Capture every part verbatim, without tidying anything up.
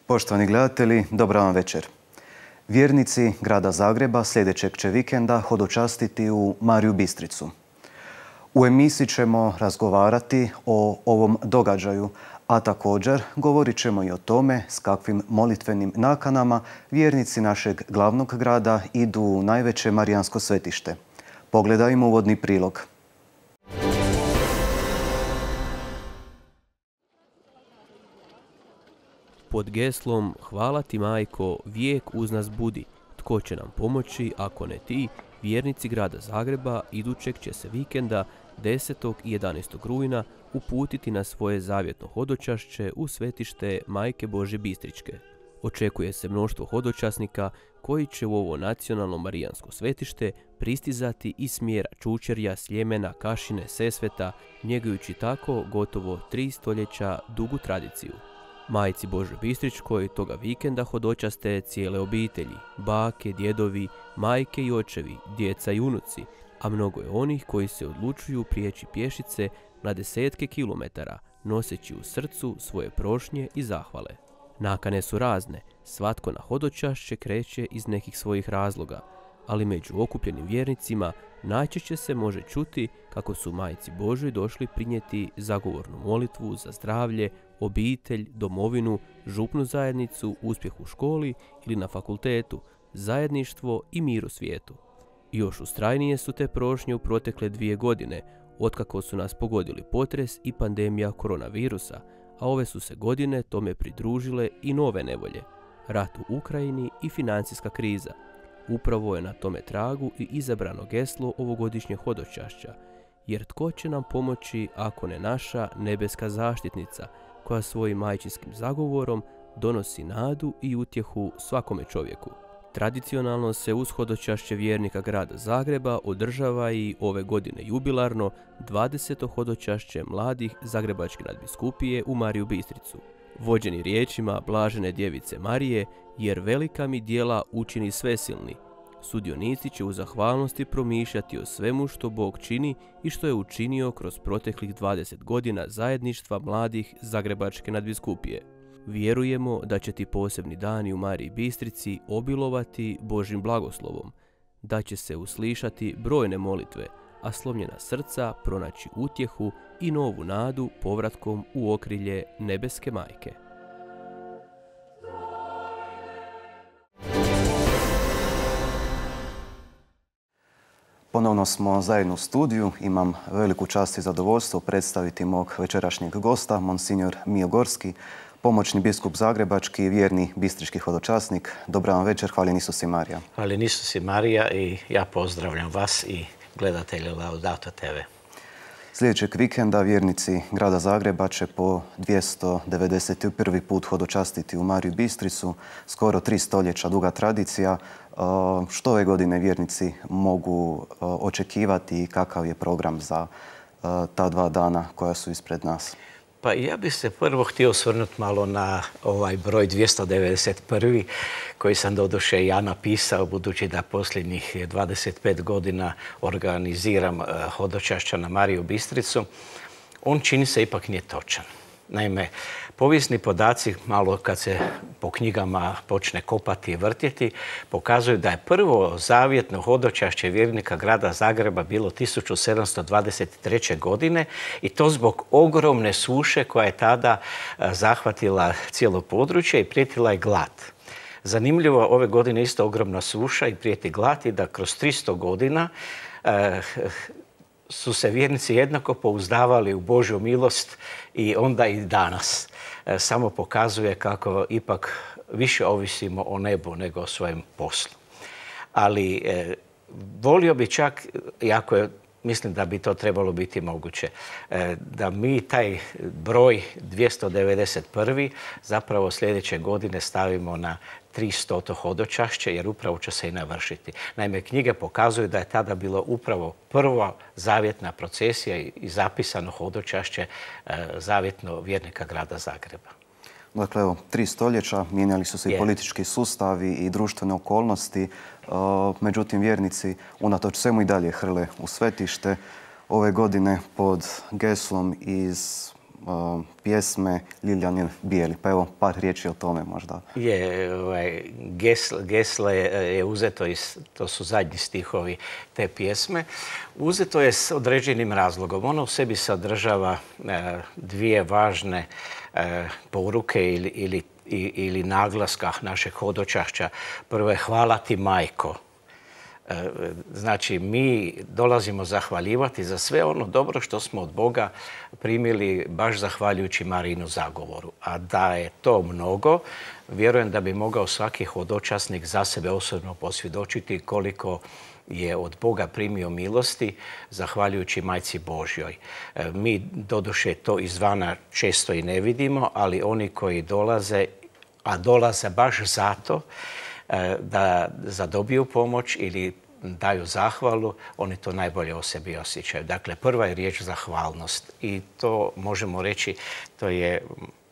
Poštovani gledatelji, dobar vam večer. Vjernici grada Zagreba sljedećeg će vikenda hodočastiti u Mariju Bistricu. U emisiji ćemo razgovarati o ovom događaju, a također govorit ćemo i o tome s kakvim molitvenim nakanama vjernici našeg glavnog grada idu u najveće marijansko svetište. Pogledajmo uvodni prilog. Pod geslom "Hvala ti, majko, vijek uz nas budi, tko će nam pomoći, ako ne ti", vjernici grada Zagreba idućeg će se vikenda desetog i jedanaestog rujna uputiti na svoje zavjetno hodočašće u svetište Majke Božje Bistričke. Očekuje se mnoštvo hodočasnika koji će u ovo nacionalno marijansko svetište pristizati iz smjera Čučerja, Sljemena, Kašine, Sesveta, njegujući tako gotovo tri stoljeća dugu tradiciju. Majci Božjoj Bistričkoj toga vikenda hodočaste cijele obitelji, bake, djedovi, majke i očevi, djeca i unuci, a mnogo je onih koji se odlučuju prijeći pješice na desetke kilometara, noseći u srcu svoje prošnje i zahvale. Nakane su razne, svatko na hodočašće kreće iz nekih svojih razloga, ali među okupljenim vjernicima najčešće se može čuti kako su Majci Božjoj došli prinijeti zagovornu molitvu za zdravlje, obitelj, domovinu, župnu zajednicu, uspjeh u školi ili na fakultetu, zajedništvo i mir u svijetu. I još ustrajnije su te prošnje u protekle dvije godine, otkako su nas pogodili potres i pandemija koronavirusa, a ove su se godine tome pridružile i nove nevolje, rat u Ukrajini i financijska kriza. Upravo je na tome tragu i izabrano geslo ovogodišnje hodočašća, jer tko će nam pomoći ako ne naša nebeska zaštitnica, koja svojim majčinskim zagovorom donosi nadu i utjehu svakome čovjeku. Tradicionalno se uz hodočašće vjernika grada Zagreba održava i ove godine jubilarno dvadeseto hodočašće mladih Zagrebačke nadbiskupije u Mariju Bistricu. Vođeni riječima blažene djevice Marije, jer velika mi djela učini svesilni, sudionici će u zahvalnosti promišljati o svemu što Bog čini i što je učinio kroz proteklih dvadeset godina zajedništva mladih Zagrebačke nadbiskupije. Vjerujemo da će ti posebni dani u Mariji Bistrici obilovati Božjim blagoslovom, da će se uslišati brojne molitve, a slomljena srca pronaći utjehu i novu nadu povratkom u okrilje nebeske majke. Ponovno smo zajedno u studiju. Imam veliku čast i zadovoljstvo predstaviti mog večerašnjeg gosta, monsinjor Mijo Gorski, pomoćni biskup Zagrebački i vjerni bistrički hodočasnik. Dobar vam večer, hvaljen Isus i Marija. Hvaljen Isus i Marija i ja pozdravljam vas i gledatelje Laudato te ve. Sljedećeg vikenda vjernici grada Zagreba će po dvjesto devedeset prvi put hodočastiti u Mariju Bistricu, skoro tri stoljeća duga tradicija. Što ove godine vjernici mogu očekivati i kakav je program za ta dva dana koja su ispred nas? Pa ja bih se prvo htio osvrnuti malo na ovaj broj dvjesto devedeset prvi koji sam doduše ja napisao, budući da posljednjih dvadeset pet godina organiziram hodočašća na Mariju Bistricu. On čini se ipak nije točan. Naime, povijesni podaci, malo kad se po knjigama počne kopati i vrtjeti, pokazuju da je prvo zavjetno hodočašće vjernika grada Zagreba bilo tisuću sedamsto dvadeset treće. godine i to zbog ogromne suše koja je tada zahvatila cijelo područje i prijetila je glad. Zanimljivo, ove godine isto ogromna suša i prijeti glad i da kroz tristo godina eh, su se vjernici jednako pouzdavali u Božju milost i onda i danas. E, samo pokazuje kako ipak više ovisimo o nebu nego o svojem poslu. Ali e, volio bi čak, iako je, mislim da bi to trebalo biti moguće, e, da mi taj broj dvjesto devedeset prvi zapravo sljedeće godine stavimo na tristoto hodočašće, jer upravo će se i navršiti. Naime, knjige pokazuju da je tada bilo upravo prva zavjetna procesija i zapisano hodočašće zavjetno vjernika grada Zagreba. Dakle, evo, tri stoljeća, mijenjali su se i politički sustavi i društvene okolnosti. Međutim, vjernici unatoč svemu i dalje hrle u svetište. Ove godine pod geslom iz pjesme Liljanin bijeli. Pa evo, par riječi o tome možda. Je, ovaj, gesle, gesle je uzeto, iz, to su zadnji stihovi te pjesme, uzeto je s određenim razlogom. Ono u sebi sadržava e, dvije važne e, poruke ili, ili, ili naglaska našeg hodočašća. Prvo je hvala ti majko. Znači, mi dolazimo zahvaljivati za sve ono dobro što smo od Boga primili baš zahvaljujući Marijinu zagovoru. A da je to mnogo, vjerujem da bi mogao svaki hodočasnik za sebe osobno posvjedočiti koliko je od Boga primio milosti zahvaljujući Majci Božjoj. Mi doduše to izvana često i ne vidimo, ali oni koji dolaze, a dolaze baš zato, da zadobiju pomoć ili daju zahvalu, oni to najbolje o sebi osjećaju. Dakle, prva je riječ zahvalnost i to možemo reći, to je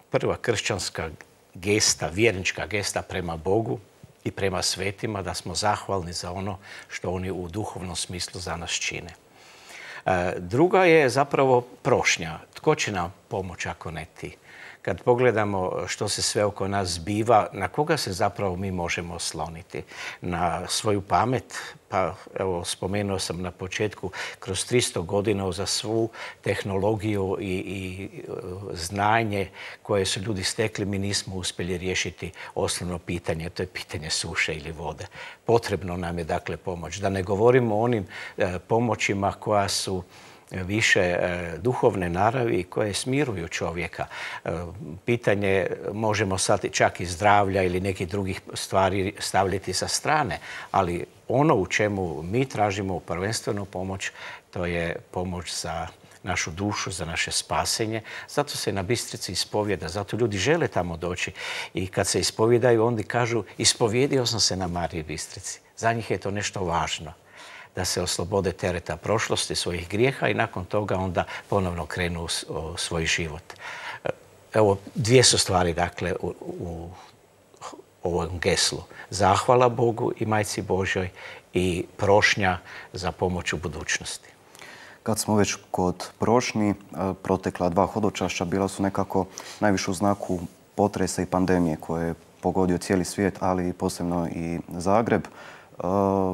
prva kršćanska gesta, vjernička gesta prema Bogu i prema svetima, da smo zahvalni za ono što oni u duhovnom smislu za nas čine. Druga je zapravo prošnja. Tko će nam pomoći ako ne ti? Kad pogledamo što se sve oko nas zbiva, na koga se zapravo mi možemo osloniti? Na svoju pamet? Pa evo, spomenuo sam na početku, kroz tristo godina za svu tehnologiju i, i znanje koje su ljudi stekli, mi nismo uspjeli riješiti osnovno pitanje, to je pitanje suše ili vode. Potrebno nam je dakle pomoć. Da ne govorimo o onim e, pomoćima koja su više e, duhovne naravi koje smiruju čovjeka. E, pitanje možemo sad čak i zdravlja ili nekih drugih stvari stavljati sa strane, ali ono u čemu mi tražimo prvenstvenu pomoć, to je pomoć za našu dušu, za naše spasenje. Zato se na Bistrici ispovjeda, zato ljudi žele tamo doći i kad se ispovjedaju, onda kažu ispovjedio sam se na Mariji Bistrici. Za njih je to nešto važno, da se oslobode tereta prošlosti, svojih grijeha i nakon toga onda ponovno krenu u svoj život. Evo, dvije su stvari, dakle, u, u ovom geslu. Zahvala Bogu i Majci Božjoj i prošnja za pomoć u budućnosti. Kad smo već kod prošnji, protekla dva hodočašća bila su nekako najviše u znaku potresa i pandemije koje je pogodio cijeli svijet, ali posebno i Zagreb.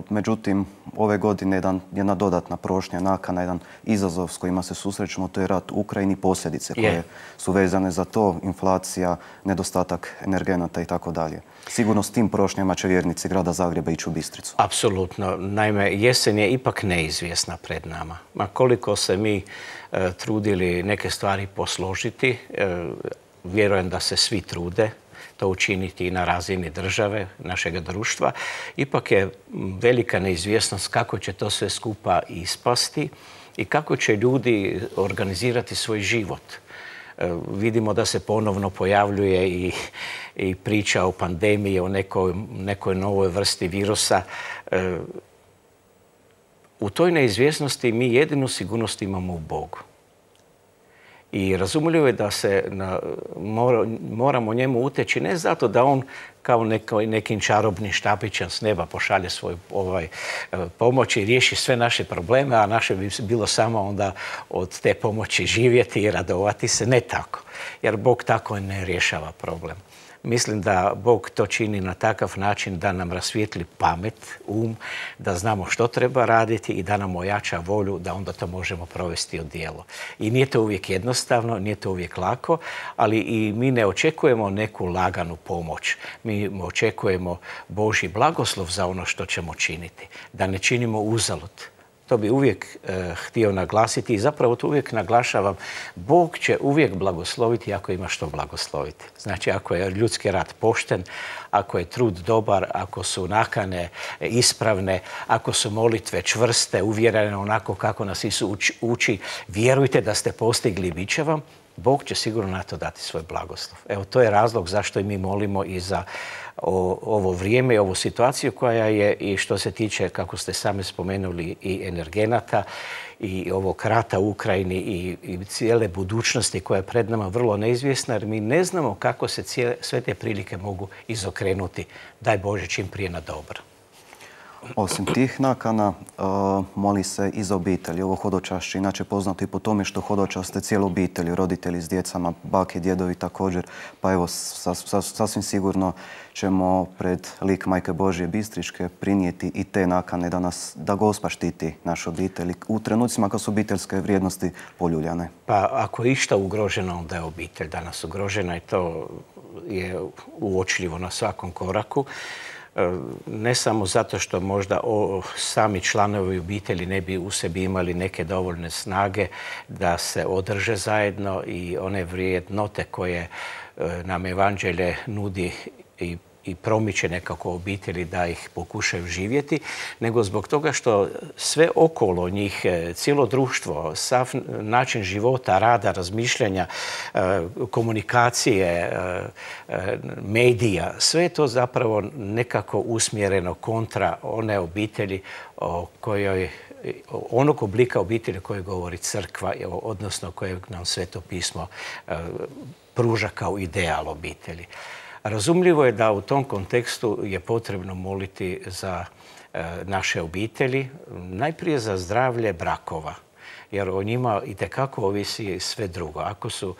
Međutim, ove godine jedan, jedna dodatna prošnja, nakana, jedan izazov s kojima se susrećemo, to je rat u Ukrajini, posljedice koje yeah. su vezane za to, inflacija, nedostatak energenata i tako dalje. Sigurno s tim prošnjama će vjernici grada Zagreba ići u Bistricu. Apsolutno. Naime, jesen je ipak neizvjesna pred nama. Ma koliko se mi e, trudili neke stvari posložiti, e, vjerujem da se svi trude to učiniti i na razini države, našeg društva. Ipak je velika neizvjesnost kako će to sve skupa ispasti i kako će ljudi organizirati svoj život. E, vidimo da se ponovno pojavljuje i, i priča o pandemiji, o nekoj, nekoj novoj vrsti virusa. E, u toj neizvjesnosti mi jedinu sigurnost imamo u Bogu. I razumljivo je da se na, mora, moramo njemu uteći ne zato da on kao neko, nekim čarobnim štapićem s neba pošalje svoju ovaj, pomoć i riješi sve naše probleme, a naše bi bilo samo onda od te pomoći živjeti i radovati se. Ne tako, jer Bog tako ne rješava problem. Mislim da Bog to čini na takav način da nam rasvijetli pamet, um, da znamo što treba raditi i da nam ojača volju da onda to možemo provesti u djelo. I nije to uvijek jednostavno, nije to uvijek lako, ali i mi ne očekujemo neku laganu pomoć. Mi očekujemo Božji blagoslov za ono što ćemo činiti, da ne činimo uzalud. To bi uvijek e, htio naglasiti i zapravo to uvijek naglašavam. Bog će uvijek blagosloviti ako ima što blagosloviti. Znači, ako je ljudski rad pošten, ako je trud dobar, ako su nakane ispravne, ako su molitve čvrste, uvjerene onako kako nas Isus uči, uči, vjerujte da ste postigli i bit će vam, Bog će sigurno na to dati svoj blagoslov. Evo, to je razlog zašto i mi molimo i za o, ovo vrijeme i ovu situaciju koja je i što se tiče, kako ste sami spomenuli, i energenata i ovog rata u Ukrajini i, i cijele budućnosti koja je pred nama vrlo neizvjesna, jer mi ne znamo kako se cijele, sve te prilike mogu izokrenuti. Daj Bože čim prije na dobro. Osim tih nakana, moli se i za obitelji. Ovo hodočašće inače poznato i po tome što hodočaste cijelu obitelji, roditelji s djecama, bake, djedovi također. Pa evo, sasvim sigurno ćemo pred lik Majke Božje Bistričke prinijeti i te nakane da nas, da Gospa štiti naše obitelji u trenucima kad su obiteljske vrijednosti poljuljane. Pa ako je išta ugroženo, onda je obitelj danas ugrožena i to je uočljivo na svakom koraku. Ne samo zato što možda sami članovi obitelji ne bi u sebi imali neke dovoljne snage da se održe zajedno i one vrijednote koje nam evanđelje nudi i i promiče nekako obitelji da ih pokušaju živjeti, nego zbog toga što sve okolo njih, cijelo društvo, sav način života, rada, razmišljanja, komunikacije, medija, sve je to zapravo nekako usmjereno kontra one obitelji o kojoj onog oblika obitelji koje govori crkva, odnosno kojeg nam Sveto pismo pruža kao ideal obitelji. Razumljivo je da u tom kontekstu je potrebno moliti za naše obitelji, najprije za zdravlje brakova, jer o njima itekako ovisi sve drugo. Ako su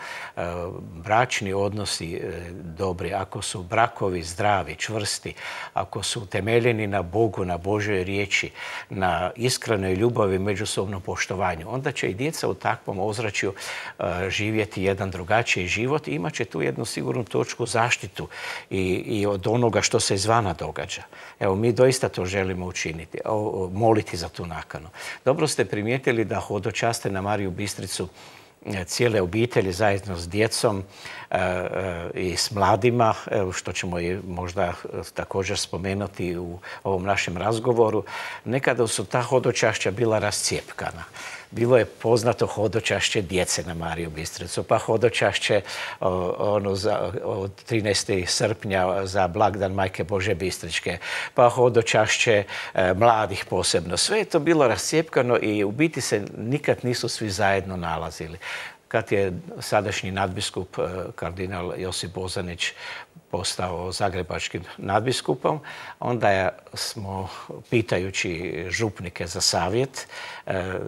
bračni odnosi dobri, ako su brakovi zdravi, čvrsti, ako su temeljeni na Bogu, na Božjoj riječi, na iskrenoj ljubavi, međusobnom poštovanju, onda će i djeca u takvom ozračju živjeti jedan drugačiji život i imat će tu jednu sigurnu točku zaštitu i, i od onoga što se izvana događa. Evo, mi doista to želimo učiniti, moliti za tu nakanu. Dobro ste primijetili da hodočaste na Mariju Bistricu cijele obitelji zajedno s djecom i s mladima, što ćemo i možda također spomenuti u ovom našem razgovoru. Nekada su ta hodočašća bila rascijepkana. Bilo je poznato hodočašće djece na Mariju Bistricu, pa hodočašće ono za, od trinaestog srpnja za blagdan Majke Božje Bistričke, pa hodočašće e, mladih posebno. Sve je to bilo rascijepkano i u biti se nikad nisu svi zajedno nalazili. Kad je sadašnji nadbiskup kardinal Josip Bozanić postao zagrebačkim nadbiskupom, onda smo, pitajući župnike za savjet,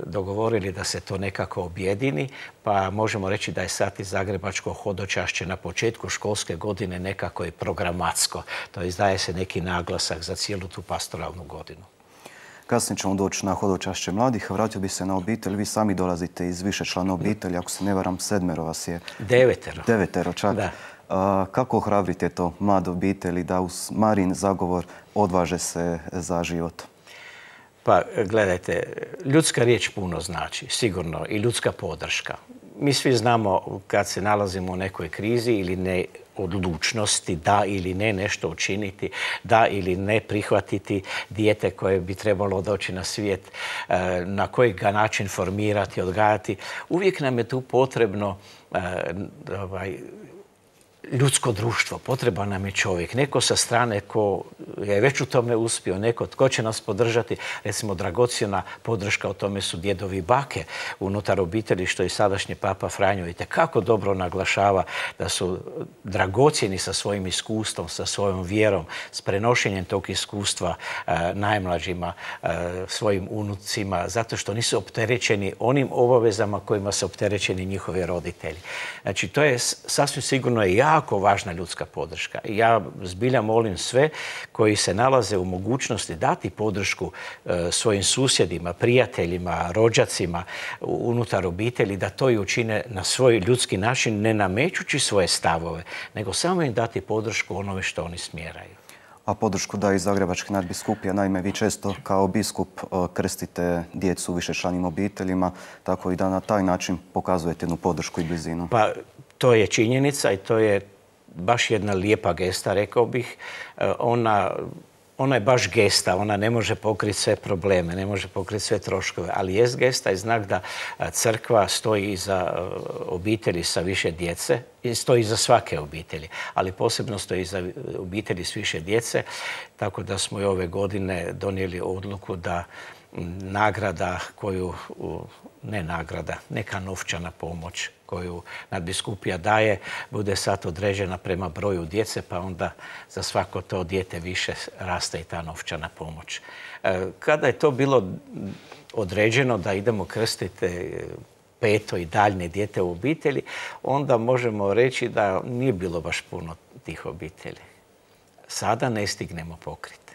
dogovorili da se to nekako objedini, pa možemo reći da je sad i zagrebačko hodočašće na početku školske godine nekako i programatsko. To jest daje se neki naglasak za cijelu tu pastoralnu godinu. Kasnije ćemo doći na hodočašće mladih. Vratio bi se na obitelj. Vi sami dolazite iz više člana obitelji. Ako se ne varam, sedmero vas je. Devetero. Devetero čak. Da. A, kako ohrabrite to mlade obitelji da uz Marin zagovor odvaže se za život? Pa gledajte, ljudska riječ puno znači, sigurno, i ljudska podrška. Mi svi znamo kad se nalazimo u nekoj krizi ili ne odlučnosti da ili ne nešto učiniti, da ili ne prihvatiti dijete koje bi trebalo doći na svijet, na koji ga način formirati, odgajati. Uvijek nam je tu potrebno ovaj, ljudsko društvo, potreban nam je čovjek, neko sa strane ko je već u tome uspio, neko tko će nas podržati. Recimo, dragocjena podrška o tome su djedovi i bake unutar obitelji, što i sadašnji Papa Franjo itekako dobro naglašava da su dragocjeni sa svojim iskustvom, sa svojom vjerom, s prenošenjem tog iskustva e, najmlađima, e, svojim unucima, zato što nisu opterećeni onim obavezama kojima su opterećeni njihovi roditelji. Znači, to je sasvim sigurno i ja jako važna ljudska podrška. Ja zbilja molim sve koji se nalaze u mogućnosti dati podršku e, svojim susjedima, prijateljima, rođacima unutar obitelji, da to i učine na svoj ljudski način, ne namećući svoje stavove, nego samo im dati podršku onome što oni smjeraju. A podršku daje i Zagrebački nadbiskupija. Naime, vi često kao biskup krstite djecu u višečlanim obiteljima, tako i da na taj način pokazujete jednu podršku i blizinu. Pa, to je činjenica i to je baš jedna lijepa gesta, rekao bih. Ona, ona je baš gesta, ona ne može pokriti sve probleme, ne može pokriti sve troškove, ali jest gesta i znak da crkva stoji iza obitelji sa više djece i stoji iza svake obitelji, ali posebno stoji iza obitelji s više djece, tako da smo i ove godine donijeli odluku da nagrada koju, ne nagrada, neka novčana pomoć koju nadbiskupija daje, bude sad određena prema broju djece, pa onda za svako to dijete više raste i ta novčana pomoć. Kada je to bilo određeno da idemo krstiti peto i daljnje dijete u obitelji, onda možemo reći da nije bilo baš puno tih obitelji. Sada ne stignemo pokriti.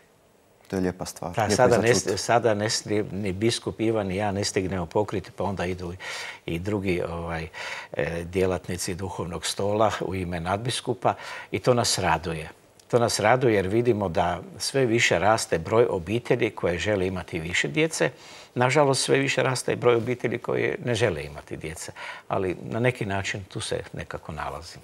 To je lijepa stvar. Da, sada, ne, sada ne, ni biskup Ivan ni ja ne stignemo pokriti, pa onda idu i drugi ovaj, djelatnici duhovnog stola u ime nadbiskupa i to nas raduje. To nas raduje jer vidimo da sve više raste broj obitelji koje žele imati više djece. Nažalost, sve više raste i broj obitelji koje ne žele imati djece. Ali na neki način tu se nekako nalazi.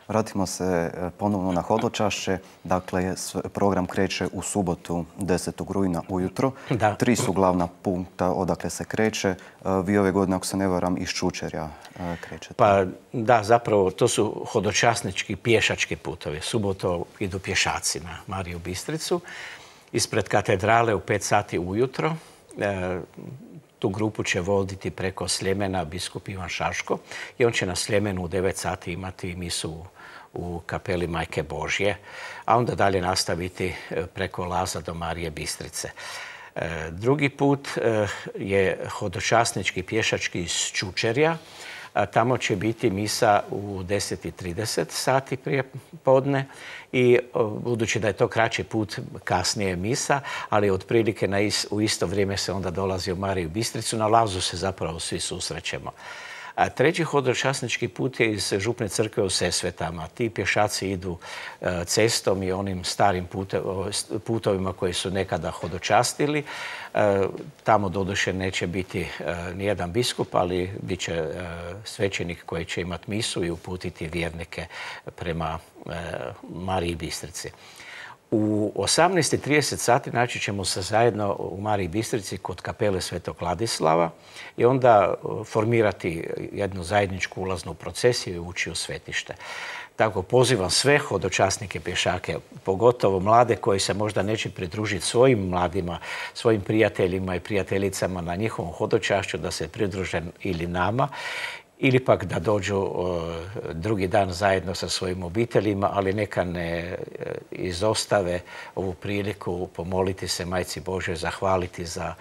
Vratimo se ponovno na hodočašće. Dakle, program kreće u subotu desetog rujna ujutro. Da. Tri su glavna punkta odakle se kreće. Vi ove godine, ako se ne varam, iz Čučerja krećete. Pa da, zapravo to su hodočasnički pješački putovi. Suboto idu pješaci na Mariju Bistricu. Ispred katedrale u pet sati ujutro. Tu grupu će voditi preko Sljemena biskup Ivan Šaško i on će na Sljemenu u devet sati imati misu u kapeli Majke Božje, a onda dalje nastaviti preko Laza do Marije Bistrice. Drugi put je hodočasnički pješački iz Čučerja. Tamo će biti misa u deset i trideset sati prije podne i budući da je to kraći put, kasnije misa, ali otprilike na is, u isto vrijeme se onda dolazi u Mariju Bistricu. Na Lazu se zapravo svi susrećemo. A treći hodočasnički put je iz Župne crkve u Sesvetama. Ti pješaci idu cestom i onim starim putovima koji su nekada hodočastili. Tamo doduše neće biti nijedan biskup, ali bit će svećenik koji će imati misu i uputiti vjernike prema Mariji Bistrici. U osamnaest i trideset sati naći ćemo se zajedno u Mariji Bistrici kod kapele Svetog Ladislava i onda formirati jednu zajedničku ulaznu procesiju i ući u svetište. Tako pozivam sve hodočasnike pješake, pogotovo mlade koji se možda neće pridružiti svojim mladima, svojim prijateljima i prijateljicama na njihovom hodočašću, da se pridruže ili nama, ili pak da dođu drugi dan zajedno sa svojim obiteljima, ali neka ne izostave ovu priliku pomoliti se Majci Božjoj, zahvaliti za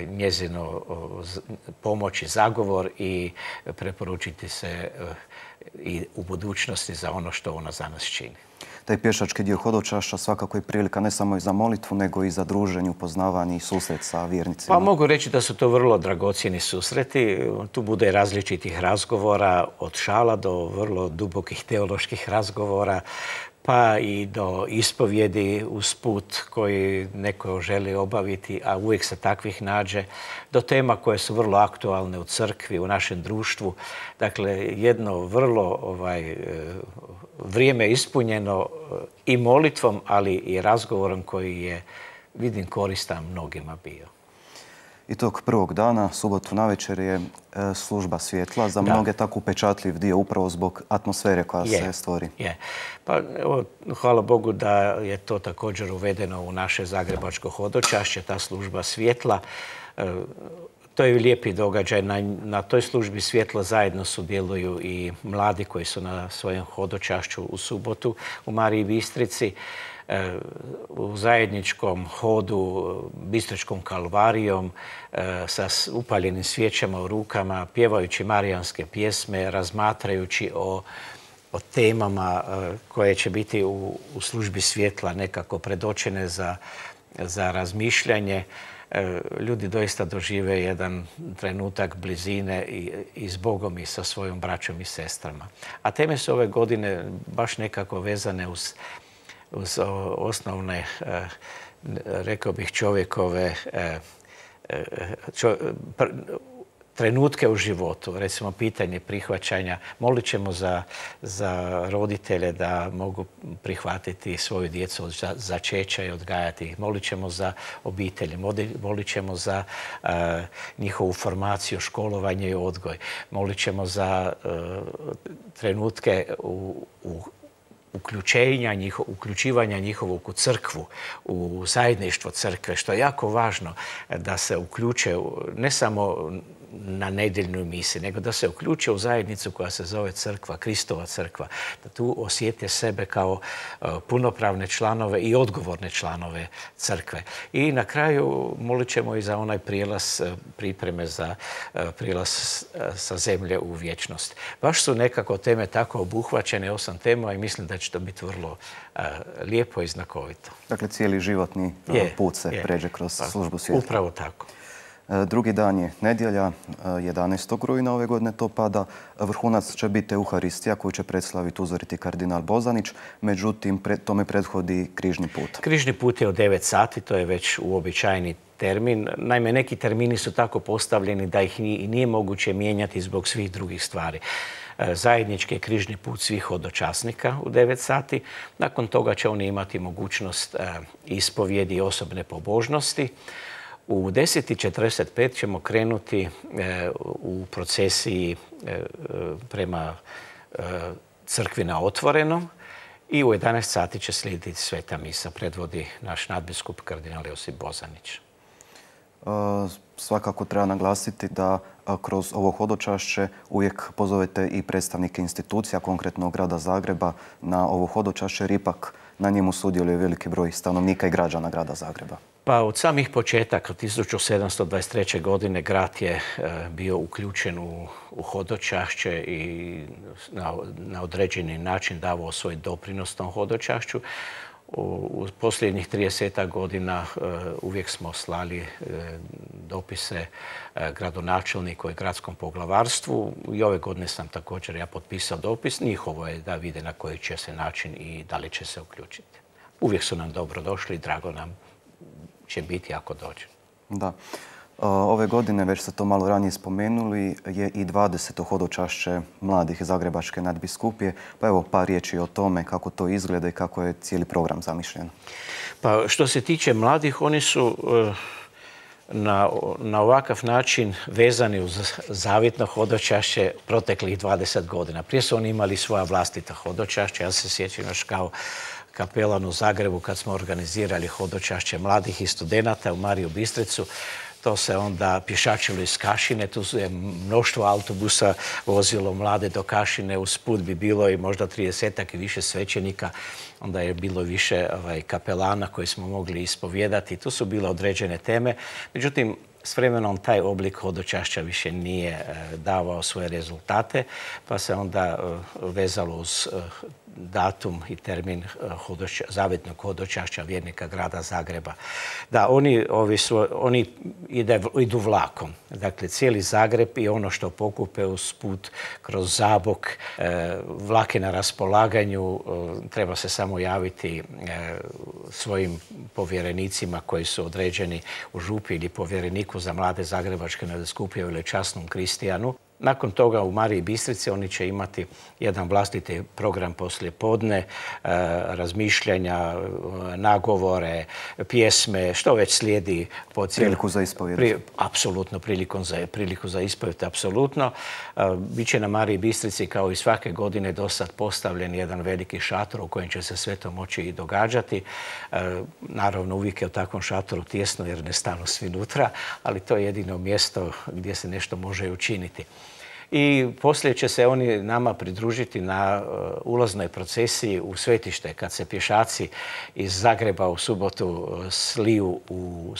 njezinu pomoć i zagovor i preporučiti se i u budućnosti za ono što ona za nas čini. Taj pješački dio hodočašća svakako je prilika ne samo i za molitvu, nego i za druženje, upoznavanje i susret sa vjernicima. Pa mogu reći da su to vrlo dragocjeni susreti. Tu bude različitih razgovora, od šala do vrlo dubokih teoloških razgovora, pa i do ispovjedi uz put koji neko želi obaviti, a uvijek se takvih nađe, do tema koje su vrlo aktualne u crkvi, u našem društvu. Dakle, jedno vrlo ovaj, vrijeme ispunjeno i molitvom, ali i razgovorom koji je, vidim, koristan mnogima bio. I tog prvog dana, subotu navečer, je služba svjetla. Za mnoge tako upečatljiv dio upravo zbog atmosfere koja je, se stvori. Je. Pa, evo, hvala Bogu da je to također uvedeno u naše zagrebačko hodočašće, ta služba svjetla. To je lijepi događaj. Na, na toj službi svjetla zajedno sudjeluju i mladi koji su na svojem hodočašću u subotu u Mariji Bistrici. U zajedničkom hodu Bistričkom kalvarijom sa upaljenim svijećama u rukama, pjevajući marijanske pjesme, razmatrajući o, o temama koje će biti u, u službi svjetla nekako predočene za, za razmišljanje. Ljudi doista dožive jedan trenutak blizine i, i s Bogom i sa svojom braćom i sestrama. A teme su ove godine baš nekako vezane uz uz osnovne, rekao bih, čovjekove čo, trenutke u životu. Recimo, pitanje prihvaćanja. Molit ćemo za, za roditelje da mogu prihvatiti svoju djecu od začeća i odgajati ih. Molit ćemo za obitelji. Molit ćemo za uh, njihovu formaciju, školovanje i odgoj. Molit ćemo za uh, trenutke u, u uključenja, njiho, uključivanja njihovog u crkvu, u zajedništvo crkve, što je jako važno da se uključe ne samo na nedjeljnoj misi, nego da se uključe u zajednicu koja se zove crkva, Kristova crkva, da tu osjete sebe kao punopravne članove i odgovorne članove crkve. I na kraju molit ćemo i za onaj prijelaz, pripreme za prijelaz sa zemlje u vječnost. Baš su nekako teme tako obuhvaćene, osam tema, i mislim da će to biti vrlo lijepo i znakovito. Dakle, cijeli životni je, put se je. pređe kroz pa, službu svjetla. Upravo tako. Drugi dan je nedjelja, jedanaestog rujna ove godine to pada. Vrhunac će biti Euharistija koju će predslaviti uzoriti kardinal Bozanić, međutim tome prethodi križni put. Križni put je od devet sati, to je već uobičajeni termin. Naime, neki termini su tako postavljeni da ih nije moguće mijenjati zbog svih drugih stvari. Zajednički je križni put svih hodočasnika u devet sati. Nakon toga će oni imati mogućnost ispovjedi i osobne pobožnosti. U deset i četrdeset pet ćemo krenuti u procesiji prema crkvi na otvorenom i u jedanaest sati će slijediti sveta misa. Predvodi naš nadbiskup kardinal Josip Bozanić. Svakako treba naglasiti da kroz ovo hodočašće uvijek pozovete i predstavnike institucija, konkretno grada Zagreba, na ovo hodočašće, jer ipak na njemu sudjeluje veliki broj stanovnika i građana grada Zagreba. Pa od samih početaka, tisuću sedamsto dvadeset treće. godine, grad je bio uključen u, u hodočašće i na, na određeni način davao svoj doprinos tom hodočašću. U, u posljednjih trideset godina uh, uvijek smo slali uh, dopise uh, gradonačelniku i gradskom poglavarstvu. I ove godine sam također ja potpisao dopis. Njihovo je da vide na koji će se način i da li će se uključiti. Uvijek su nam dobro došli i drago nam će biti ako dođe. Da. Ove godine, već ste to malo ranije spomenuli, je i dvadeseto hodočašće mladih Zagrebačke nadbiskupije. Pa evo par riječi o tome kako to izgleda i kako je cijeli program zamišljen. Pa što se tiče mladih, oni su na, na ovakav način vezani uz zavjetno hodočašće proteklih dvadeset godina. Prije su oni imali svoja vlastita hodočašća. Ja se sjećam još kao kapelan u Zagrebu kad smo organizirali hodočašće mladih i studenata u Mariju Bistricu. To se onda pješačilo iz Kašine, tu je mnoštvo autobusa vozilo mlade do Kašine, usput bi bilo i možda tridesetak i više svećenika, onda je bilo više ovaj, kapelana koji smo mogli ispovijedati. Tu su bile određene teme, međutim, s vremenom taj oblik hodočašća više nije e, davao svoje rezultate, pa se onda e, vezalo uz e, datum i termin hodoča, zavjetnog hodočašća vjernika grada Zagreba. Da, oni, ovi su, oni ide, idu vlakom. Dakle, cijeli Zagreb i ono što pokupe uz put kroz Zabok, e, vlak je na raspolaganju, e, treba se samo javiti e, svojim povjerenicima koji su određeni u župi ili povjereniku za mlade Zagrebačke nadbiskupije ili časnom Kristijanu. Nakon toga u Mariji Bistrici oni će imati jedan vlastiti program poslije podne, razmišljanja, nagovore, pjesme, što već slijedi po cijelu... Priliku za ispovjed. Pri, apsolutno, priliku za, priliku za ispovjed, apsolutno. Biće na Mariji Bistrici kao i svake godine do sad postavljen jedan veliki šator u kojem će se sve to moći i događati. Naravno, uvijek je u takvom šatoru tjesno jer ne stanu svi unutra, ali to je jedino mjesto gdje se nešto može učiniti. I poslije će se oni nama pridružiti na ulaznoj procesiji u svetište kad se pješaci iz Zagreba u subotu sliju u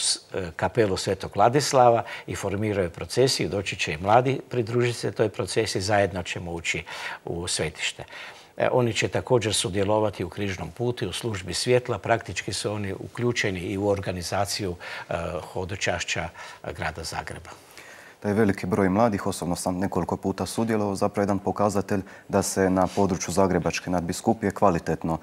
kapelu Svetog Ladislava i formiraju procesiju. Doći će i mladi pridružiti se toj procesiji, zajedno ćemo ući u svetište. Oni će također sudjelovati u križnom putu i u službi svjetla. Praktički su oni uključeni i u organizaciju hodočašća grada Zagreba. Da je veliki broj mladih, osobno sam nekoliko puta sudjelovao, zapravo jedan pokazatelj da se na području Zagrebačke nadbiskupije kvalitetno e,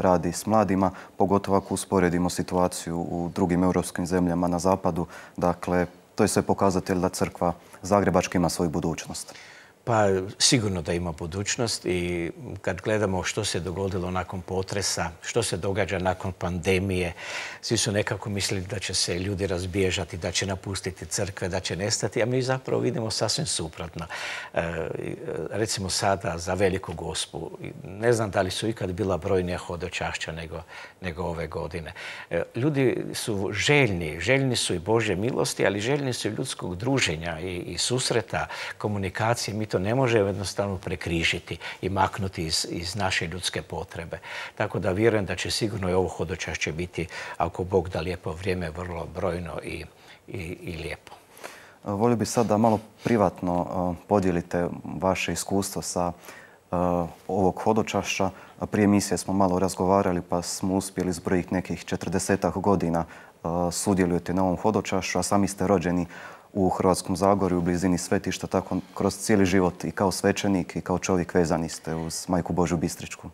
radi s mladima, pogotovo ako usporedimo situaciju u drugim europskim zemljama na zapadu. Dakle, to je sve pokazatelj da crkva Zagrebačka ima svoju budućnost. Pa sigurno da ima budućnost i kad gledamo što se dogodilo nakon potresa, što se događa nakon pandemije, svi su nekako mislili da će se ljudi razbježati, da će napustiti crkve, da će nestati, a mi zapravo vidimo sasvim suprotno. Recimo sada za Veliku Gospu, ne znam da li su ikad bila brojnija hodočašća nego, nego ove godine. Ljudi su željni, željni su i Božje milosti, ali željni su i ljudskog druženja i, i susreta, komunikacije. Mi to ne možemo jednostavno prekrižiti i maknuti iz, iz naše ljudske potrebe. Tako da vjerujem da će sigurno i ovo hodočašće biti, ako Bog da lijepo vrijeme, vrlo brojno i, i, i lijepo. Volio bih sad da malo privatno podijelite vaše iskustvo sa ovog hodočašća. Prije emisije smo malo razgovarali pa smo uspjeli zbrojiti nekih četrdesetak godina sudjelujete na ovom hodočašću, a sami ste rođeni u Hrvatskom Zagorju, u blizini svetišta, tako kroz cijeli život i kao svećenik i kao čovjek vezani ste uz Majku Božju Bistričku.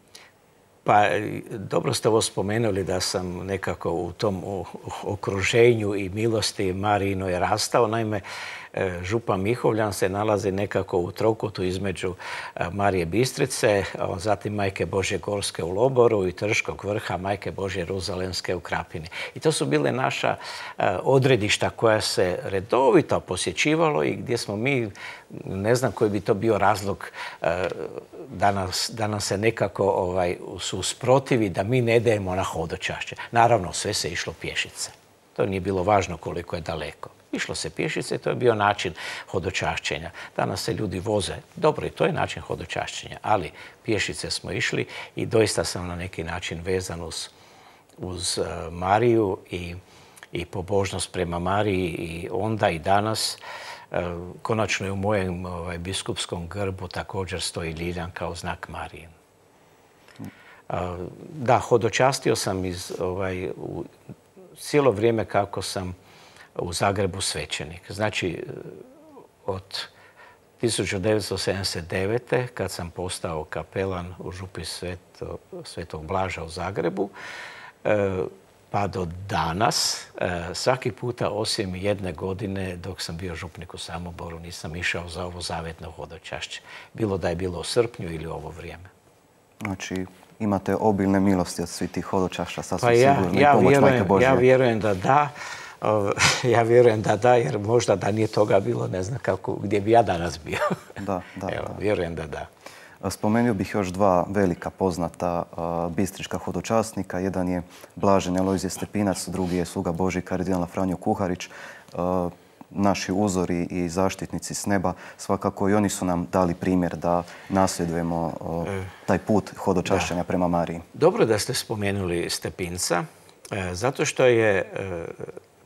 Pa dobro ste ovo spomenuli da sam nekako u tom okruženju i milosti Marijinoj rastao. Naime, župa Mihovljan se nalazi nekako u trokutu između Marije Bistrice, zatim Majke Božje Gorske u Loboru i Trškog vrha Majke Božje Jeruzalemske u Krapini. I to su bile naša odredišta koja se redovito posjećivalo i gdje smo mi, ne znam koji bi to bio razlog da, nas, da nam se nekako ovaj, su usprotivi da mi ne idemo na hodočašće. Naravno, sve se išlo pješice. To nije bilo važno koliko je daleko. Išlo se pješice i to je bio način hodočašćenja. Danas se ljudi voze. Dobro, i to je način hodočašćenja, ali pješice smo išli i doista sam na neki način vezan uz, uz uh, Mariju i, i pobožnost prema Mariji i onda i danas. Uh, konačno je u mojem ovaj, biskupskom grbu također stoji ljiljan kao znak Marije. Uh, da, hodočastio sam iz, ovaj, u, cijelo vrijeme kako sam u Zagrebu svećenik. Znači, od tisuću devetsto sedamdeset devete. kad sam postao kapelan u župi Sveto, Svetog Blaža u Zagrebu, pa do danas, svaki puta osim jedne godine dok sam bio župnik u Samoboru, nisam išao za ovo zavetno hodočašće. Bilo da je bilo u srpnju ili ovo vrijeme. Znači, imate obilne milosti od svih tih hodočašća, sasvim pa ja, sigurno, ja i pomoć vjerujem, Majke Božje. Ja vjerujem da da. Ja vjerujem da da, jer možda da nije toga bilo, ne znam kako, gdje bi ja danas bio. Da, da, Evo, da. vjerujem da da. Spomenuo bih još dva velika poznata bistrička hodočasnika. Jedan je Blaženi Alojzije Stepinac, drugi je sluga Božji kardinal Franjo Kuharić. Naši uzori i zaštitnici s neba, svakako i oni su nam dali primjer da nasljedujemo taj put hodočašćenja da. prema Mariji. Dobro da ste spomenuli Stepinca, zato što je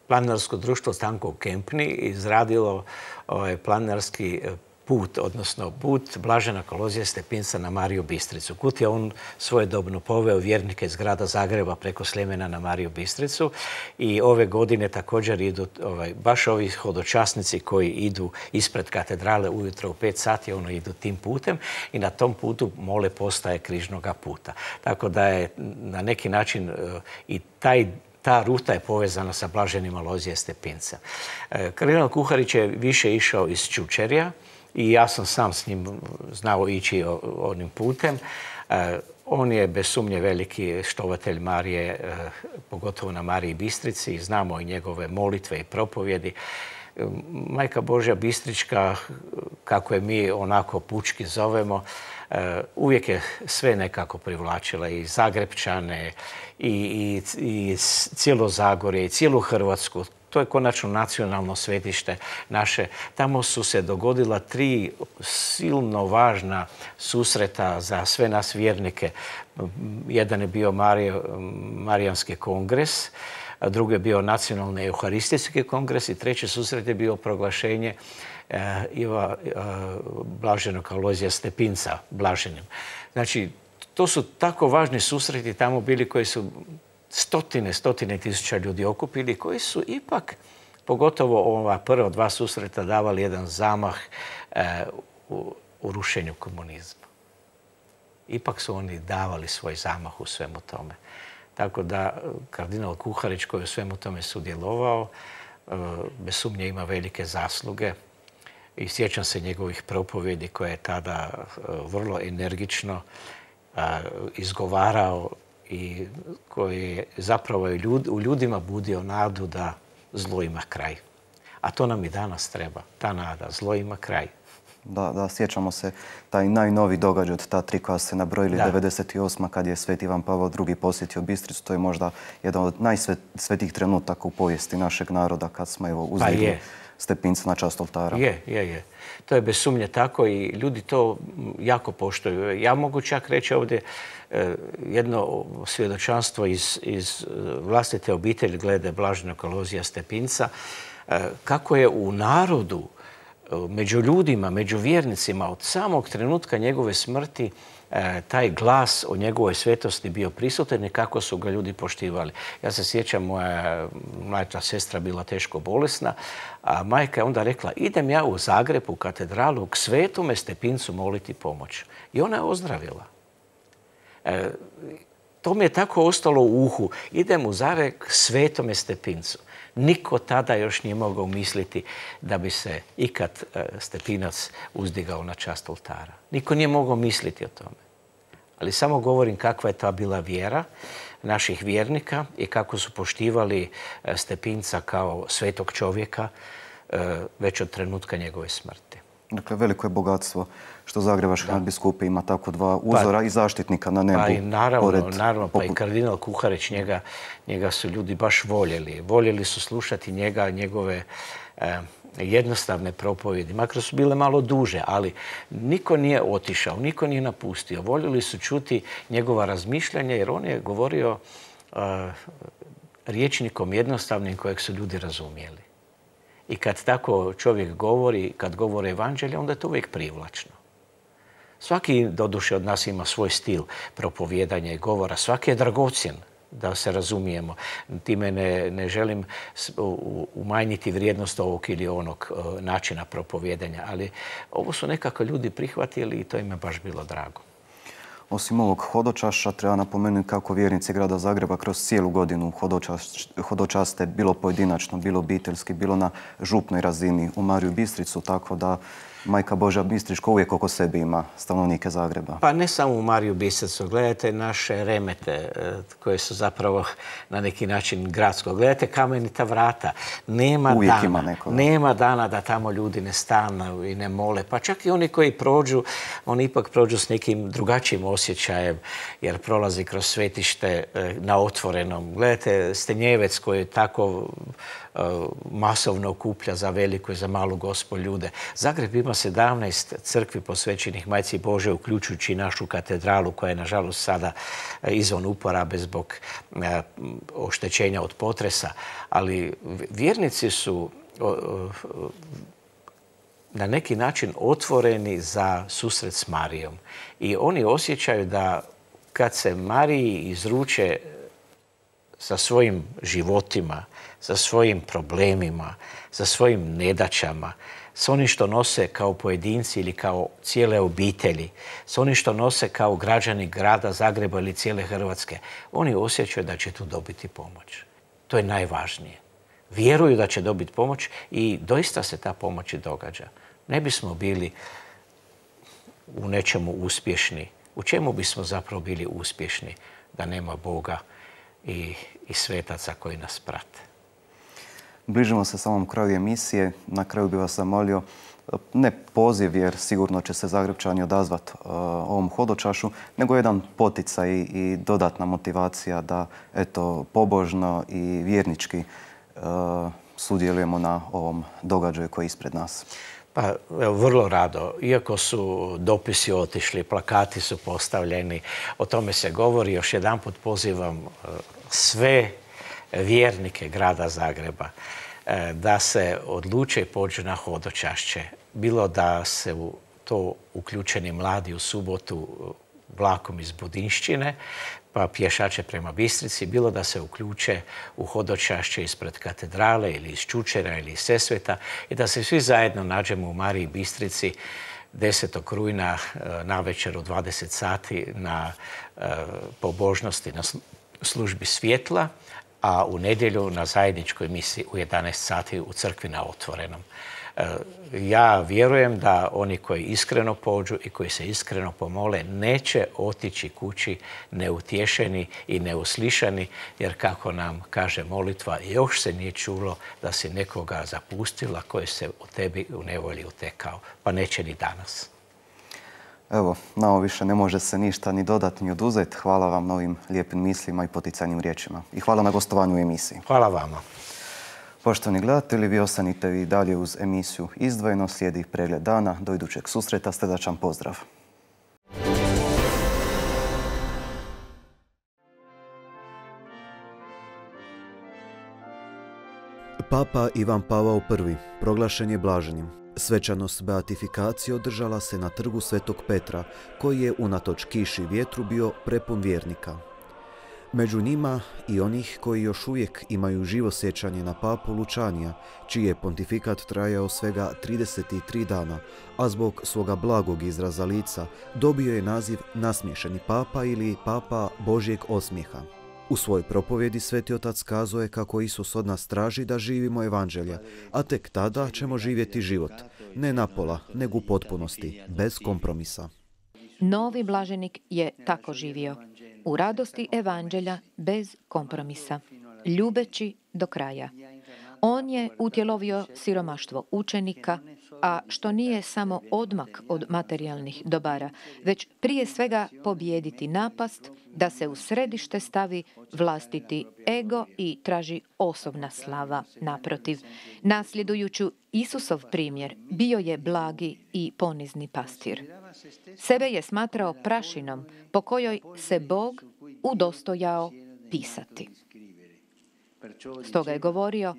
Planinarsko društvo Stanko u Kempni izradilo ovaj planinarski put, odnosno put Blaženog Alojzija Stepinca na Mariju Bistricu. Kud je on svojedobno poveo vjernike iz grada Zagreba preko Sljemena na Mariju Bistricu i ove godine također idu ovaj, baš ovi hodočasnici koji idu ispred katedrale ujutro u pet sati, ono idu tim putem i na tom putu mole postaje križnoga puta. Tako da je na neki način uh, i taj Ta ruta je povezana sa Blaženim Alojzijem Stepincem. Kardinal Kuharić je više išao iz Čučerja i ja sam sam s njim znao ići onim putem. On je bez sumnje veliki štovatelj Marije, pogotovo na Mariji Bistrici, i znamo i njegove molitve i propovjedi. Majka Božja Bistrička, kako je mi onako pučki zovemo, uvijek je sve nekako privlačila, i Zagrebčane, i, i, i cijelo Zagorje, i cijelu Hrvatsku. To je konačno nacionalno svetište naše. Tamo su se dogodila tri silno važna susreta za sve nas vjernike. Jedan je bio Marijo, Marijanski kongres, a drugi je bio Nacionalni euharistijski kongres i treći susret je bio proglašenje Iva Blaženog Alojzija Stepinca Blaženim. Znači, to su tako važni susreti tamo bili koji su stotine, stotine tisuća ljudi okupili, koji su ipak, pogotovo ova prva dva susreta, davali jedan zamah u, u rušenju komunizma. Ipak su oni davali svoj zamah u svemu tome. Tako da kardinal Kuharić, koji je u svemu tome sudjelovao, bez sumnje ima velike zasluge. i sjećam se njegovih propovjedi koje je tada vrlo energično izgovarao i koji je zapravo u ljudima budio nadu da zlo ima kraj. A to nam i danas treba, ta nada, zlo ima kraj. Da, da, sjećamo se taj najnoviji događaj od ta tri koja ste nabrojili, devedeset osma kad je Sveti Ivan Pavao drugi posjetio Bistricu. To je možda jedan od najsvetijih trenutaka u povijesti našeg naroda kad smo evo uzdigli stepince na čast oltara. Je, je, je. To je bez sumnje tako i ljudi to jako poštuju. Ja mogu čak reći ovdje jedno svjedočanstvo iz, iz vlastite obitelji glede blaženog Alojzija Stepinca, kako je u narodu, među ljudima, među vjernicima, od samog trenutka njegove smrti taj glas o njegovoj svetosti bio prisutan i kako su ga ljudi poštivali. Ja se sjećam, moja mlađa sestra bila teško bolesna, a majka je onda rekla, idem ja u Zagreb, u katedralu, k Svetome Stepincu moliti pomoć. I ona je ozdravila. E, to mi je tako ostalo u uhu. Idem u Zagreb k Svetome Stepincu. Niko tada još nije mogao misliti da bi se ikad Stepinac uzdigao na čast oltara. Niko nije mogao misliti o tome. Ali samo govorim kakva je ta bila vjera naših vjernika i kako su poštivali Stepinca kao svetog čovjeka već od trenutka njegove smrti. Dakle, veliko je bogatstvo što Zagrebačka nadbiskupija ima tako dva uzora i zaštitnika na nebu. Pa i naravno, naravno, pa i kardinal Kuharić, njega, njega su ljudi baš voljeli. Voljeli su slušati njega, njegove eh, jednostavne propovjedi. Makar su bile malo duže, ali niko nije otišao, niko nije napustio. Voljeli su čuti njegova razmišljanja jer on je govorio eh, rječnikom jednostavnim kojeg su ljudi razumjeli. I kad tako čovjek govori, kad govori evanđelje, onda je to uvijek privlačno. Svaki, doduše, od nas ima svoj stil propovijedanja i govora. Svaki je dragocjen, da se razumijemo. Time ne, ne želim umanjiti vrijednost ovog ili onog načina propovijedanja, ali ovo su nekako ljudi prihvatili i to im je baš bilo drago. Osim ovog hodočaša, treba napomenuti kako vjernici grada Zagreba kroz cijelu godinu hodočaste bilo pojedinačno, bilo obiteljski, bilo na župnoj razini u Mariju Bistricu, tako da Majka Božja Bistrička uvijek oko sebe ima stanovnike Zagreba. Pa ne samo u Mariju Bistricu. Gledajte naše remete koje su zapravo na neki način gradsko. Gledajte Kamenita vrata. Nema uvijek dana, ima nekoga. Nema dana da tamo ljudi ne stanu i ne mole. Pa čak i oni koji prođu, oni ipak prođu s nekim drugačijim osjećajem jer prolazi kroz svetište na otvorenom. Gledajte Stenjevec koji je tako masovno okuplja za veliku i za malu Gospu ljude. Zagreb ima sedamnaest crkvi posvećenih Majci Božjoj, uključujući našu katedralu koja je nažalost sada izvan uporabe zbog oštećenja od potresa. Ali vjernici su na neki način otvoreni za susret s Marijom. I oni osjećaju da kad se Mariji izruče sa svojim životima, sa svojim problemima, sa svojim nedaćama, s onim što nose kao pojedinci ili kao cijele obitelji, s onim što nose kao građani grada Zagreba ili cijele Hrvatske, oni osjećaju da će tu dobiti pomoć. To je najvažnije. Vjeruju da će dobiti pomoć i doista se ta pomoć i događa. Ne bismo bili u nečemu uspješni. U čemu bismo zapravo bili uspješni da nema Boga i, i svetaca koji nas prate? Bližimo se samom kraju emisije. Na kraju bih vas zamolio, ne poziv jer sigurno će se Zagrebčani odazvati uh, ovom hodočašu, nego jedan poticaj i dodatna motivacija da eto, pobožno i vjernički uh, sudjelujemo na ovom događaju koji je ispred nas. Pa, evo, vrlo rado. Iako su dopisi otišli, plakati su postavljeni, o tome se govori. Još jedanput pozivam uh, sve vjernike grada Zagreba da se odluče i pođu na hodočašće. Bilo da se u to uključeni mladi u subotu vlakom iz Budinšćine, pa pješače prema Bistrici, bilo da se uključe u hodočašće ispred katedrale ili iz Čučera ili iz Sesveta i da se svi zajedno nađemo u Mariji Bistrici desetog rujna navečer u dvadeset sati na pobožnosti na službi svjetla, a u nedjelju na zajedničkoj misi u jedanaest sati u crkvi na otvorenom. Ja vjerujem da oni koji iskreno pođu i koji se iskreno pomole neće otići kući neutješeni i neuslišani, jer kako nam kaže molitva, još se nije čulo da si nekoga zapustila koji se u tebi u nevolji utekao, pa neće ni danas. Evo, na ovo više ne može se ništa ni dodati ni oduzeti. Hvala vam na ovim lijepim mislima i poticajnim riječima. I hvala na gostovanju u emisiji. Hvala vama. Poštovani gledatelji, vi ostanite vi dalje uz emisiju Izdvojeno, slijedi pregled dana. Do idućeg susreta, srdačan pozdrav. Papa Ivan Pavao prvi proglašen je blaženim. Svečanost beatifikacije održala se na trgu Svetog Petra, koji je unatoč kiši i vjetru bio prepun vjernika. Među njima i onih koji još uvijek imaju živo sjećanje na papu Lučanija, čiji je pontifikat trajao svega trideset tri dana, a zbog svoga blagog izraza lica dobio je naziv nasmiješeni papa ili papa Božjeg osmijeha. U svojoj propovjedi Sveti Otac kazao je kako Isus od nas traži da živimo evanđelja, a tek tada ćemo živjeti život, ne napola, nego u potpunosti, bez kompromisa. Novi blaženik je tako živio, u radosti evanđelja bez kompromisa, ljubeći do kraja. On je utjelovio siromaštvo učenika, a što nije samo odmak od materijalnih dobara, već prije svega pobijediti napast da se u središte stavi vlastiti ego i traži osobna slava. Naprotiv, nasljedujući Isusov primjer, bio je blagi i ponizni pastir. Sebe je smatrao prašinom po kojoj se Bog udostojao pisati. Stoga je govorio,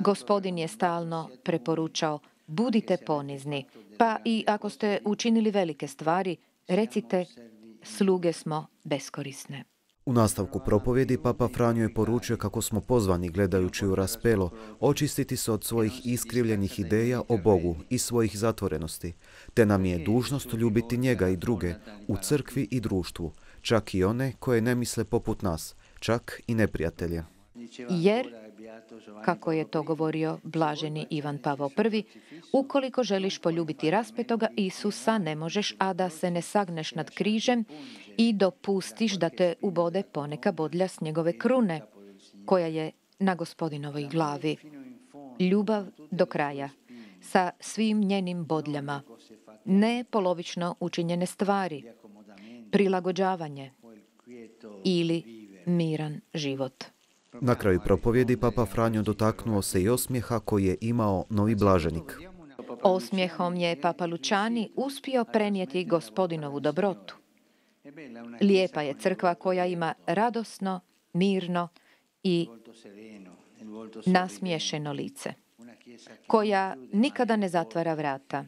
Gospodin je stalno preporučao, budite ponizni, pa i ako ste učinili velike stvari, recite, sluge smo beskorisne. U nastavku propovjedi Papa Franjo je poručio kako smo pozvani, gledajući u raspelo, očistiti se od svojih iskrivljenih ideja o Bogu i svojih zatvorenosti, te nam je dužnost ljubiti njega i druge u crkvi i društvu, čak i one koje ne misle poput nas, čak i neprijatelje. Jer, kako je to govorio blaženi Ivan Pavao prvi, ukoliko želiš poljubiti raspetoga Isusa, ne možeš, a da se ne sagneš nad križem i dopustiš da te ubode poneka bodlja s njegove krune, koja je na Gospodinovoj glavi. Ljubav do kraja, sa svim njenim bodljama, ne polovično učinjene stvari, prilagođavanje ili miran život. Na kraju propovjedi Papa Franjo dotaknuo se i osmijeha koji je imao novi blaženik. Osmijehom je Papa Lučani uspio prenijeti Gospodinovu dobrotu. Lijepa je crkva koja ima radosno, mirno i nasmiješeno lice, koja nikada ne zatvara vrata,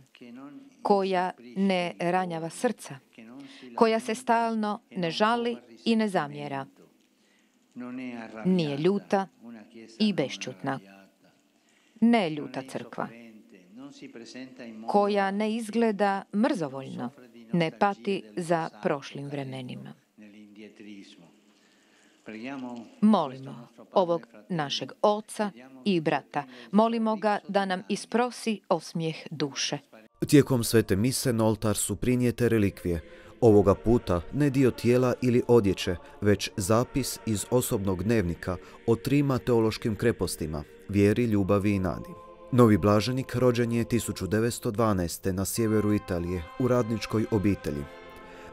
koja ne ranjava srca, koja se stalno ne žali i ne zamjera, nije ljuta i bešćutna. Ne ljuta crkva, koja ne izgleda mrzovoljno, ne pati za prošlim vremenima. Molimo ovog našeg oca i brata. Molimo ga da nam isprosi osmijeh duše. Tijekom svete mise na oltar su prinijete relikvije. Ovoga puta ne dio tijela ili odjeće, već zapis iz osobnog dnevnika o trima teološkim krepostima, vjeri, ljubavi i nadi. Novi blaženik rođen je tisuću devetsto dvanaeste. na sjeveru Italije, u radničkoj obitelji.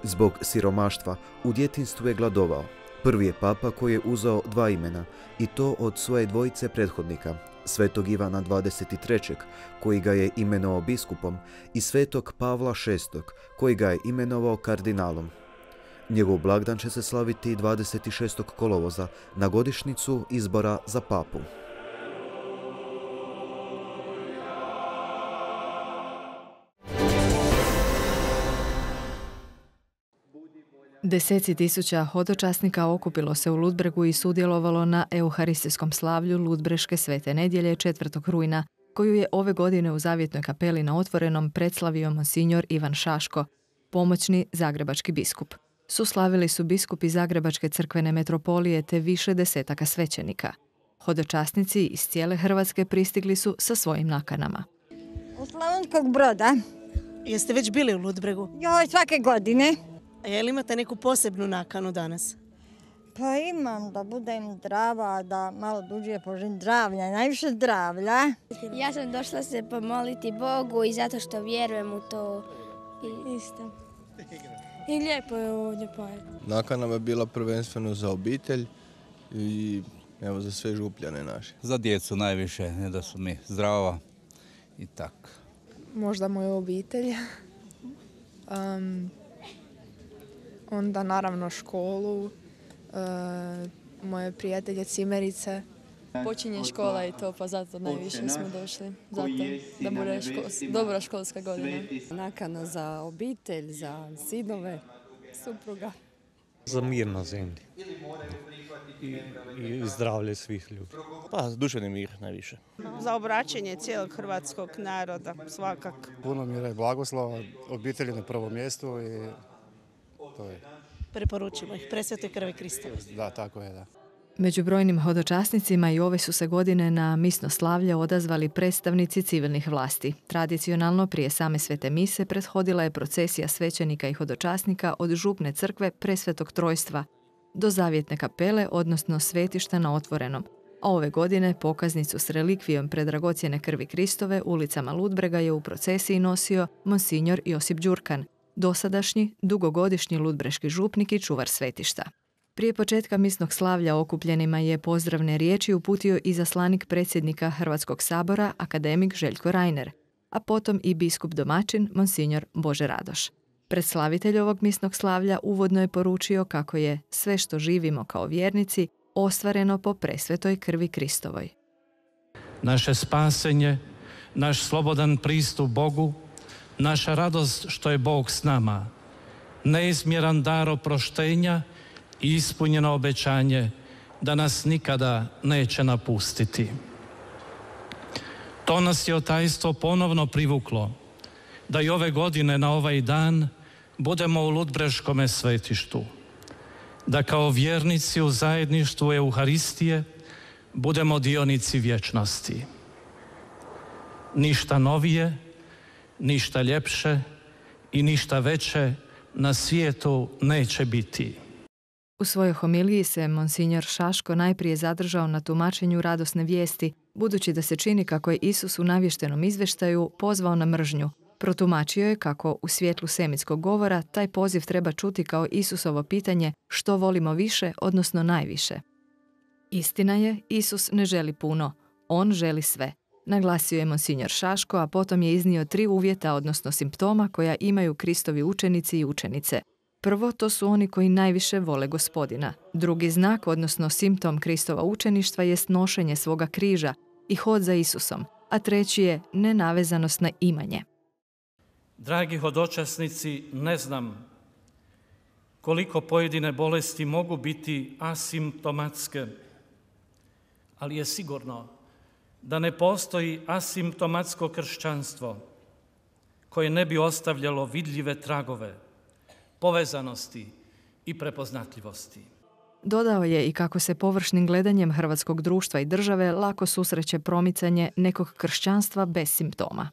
Zbog siromaštva u djetinjstvu je gladovao. Prvi je papa koji je uzeo dva imena, i to od svoje dvojice prethodnika, svetog Ivana dvadeset trećeg. koji ga je imenovao biskupom, i svetog Pavla šestog. koji ga je imenovao kardinalom. Njegov blagdan će se slaviti dvadeset šestog kolovoza na godišnjicu izbora za papu. Deseci tisuća hodočasnika okupilo se u Ludbregu i sudjelovalo na euharistijskom slavlju Ludbreške svete nedjelje četvrtog rujna, koju je ove godine u Zavjetnoj kapeli na Otvorenom predslavio monsignor Ivan Šaško, pomoćni zagrebački biskup. Suslavili su biskupi Zagrebačke crkvene metropolije te više desetaka svećenika. Hodočasnici iz cijele Hrvatske pristigli su sa svojim nakanama. U Slavonskog Broda. Jeste već bili u Ludbregu? Joj, svake godine. A je li imate neku posebnu nakanu danas? Pa imam da budem zdrava, da malo duže poželim zdravlja, najviše zdravlja. Ja sam došla se pomoliti Bogu i zato što vjerujem u to. I isto. I lijepo je ovdje pa. Nakana je bila prvenstveno za obitelj i evo za sve župljane naše. Za djecu najviše, ne da su mi zdrava i tako. Možda moju obitelj. Um, onda naravno školu, uh, moje prijatelje, cimerice. Počinje škola i to, pa zato najviše smo došli. Zato da bude škol, dobra školska godina. Nakana za obitelj, za sinove, supruga. Za mir na zemlji i, i zdravlje svih ljudi. Pa, duševni mir najviše. Za obraćanje cijelog hrvatskog naroda, svakako. Puno mira i blagoslova, obitelji na prvom mjestu i to je. Preporučimo ih presvetoj krvi Krista. Da, tako je, da. Među brojnim hodočasnicima i ove su se godine na misno slavlje odazvali predstavnici civilnih vlasti. Tradicionalno prije same svete mise prethodila je procesija svećenika i hodočasnika od župne crkve Presvetog Trojstva do zavjetne kapele, odnosno svetišta na otvorenom. A ove godine pokaznicu s relikvijom predragocjene krvi Kristove ulicama Ludbrega je u procesiji nosio monsignor Josip Đurkan, dosadašnji dugogodišnji ludbreški župnik i čuvar svetišta. Prije početka misnog slavlja okupljenima je pozdravne riječi uputio i zaslanik predsjednika Hrvatskog sabora, akademik Željko Reiner, a potom i biskup domaćin, monsignor Bože Radoš. Predslavitelj ovog misnog slavlja uvodno je poručio kako je sve što živimo kao vjernici ostvareno po presvetoj krvi Kristovoj. Naše spasenje, naš slobodan pristup Bogu, naša radost što je Bog s nama, neizmjeran dar oproštenja i ispunjeno obećanje da nas nikada neće napustiti. To nas je otajstvo ponovno privuklo, da i ove godine na ovaj dan budemo u Ludbreškome svetištu, da kao vjernici u zajedništvu Euharistije budemo dionici vječnosti. Ništa novije, ništa ljepše i ništa veće na svijetu neće biti. U svojoj homiliji se monsignor Šaško najprije zadržao na tumačenju radosne vijesti, budući da se čini kako je Isus u navještenom izvještaju pozvao na mržnju. Protumačio je kako u svjetlu semitskog govora taj poziv treba čuti kao Isusovo pitanje što volimo više, odnosno najviše. Istina je, Isus ne želi puno, on želi sve. Naglasio je monsignor Šaško, a potom je iznio tri uvjeta, odnosno simptoma koja imaju Kristovi učenici i učenice. Prvo, to su oni koji najviše vole Gospodina. Drugi znak, odnosno simptom Kristova učeništva, jest nošenje svoga križa i hod za Isusom, a treći je nenavezanost na imanje. Dragi hodočasnici, ne znam koliko pojedine bolesti mogu biti asimptomatske, ali je sigurno da ne postoji asimptomatsko kršćanstvo koje ne bi ostavljalo vidljive tragove povezanosti i prepoznatljivosti. Dodao je i kako se površnim gledanjem hrvatskog društva i države lako susreće promicanje nekog kršćanstva bez simptoma.